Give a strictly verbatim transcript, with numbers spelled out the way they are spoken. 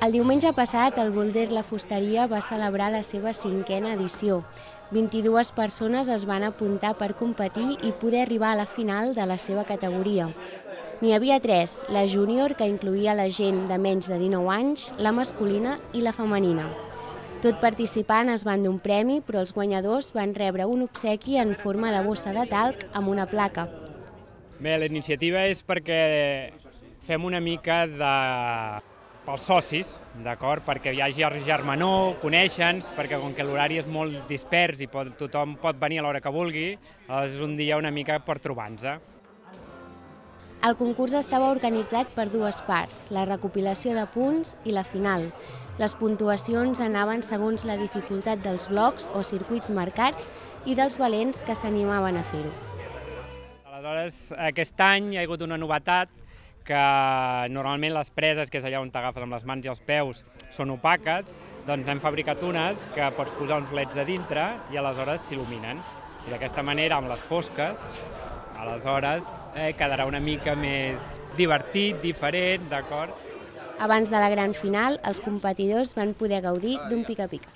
El diumenge passat, el Boulder La Fusteria va celebrar la seva cinquena edició. vint-i-dues persones es van apuntar per competir i poder arribar a la final de la seva categoria. N'hi havia tres, la júnior, que incloïa la gent de menys de dinou anys, la masculina i la femenina. Tot participant es van d'un premi, però els guanyadors van rebre un obsequi en forma de bossa de talc amb una placa. Bé, la iniciativa és perquè fem una mica de... pels socis, d'acord? Perquè hi hagi germanor, conèixer-nos, perquè com que l'horari és molt dispers i pot, tothom pot venir a l'hora que vulgui, és un dia una mica per trobar-nos. El concurs estava organitzat per dues parts, la recopilació de punts i la final. Les puntuacions anaven segons la dificultat dels blocs o circuits marcats i dels valents que s'animaven a fer-ho. Aleshores, aquest any hi ha hagut una novetat, que normalment les preses, que és allà on t'agafes amb les mans i els peus, són opaques, doncs hem fabricat unes que pots posar uns leds a dintre i aleshores s'il·luminen. I d'aquesta manera, amb les fosques, aleshores eh, quedarà una mica més divertit, diferent, d'acord? Abans de la gran final, els competidors van poder gaudir d'un pica-pica.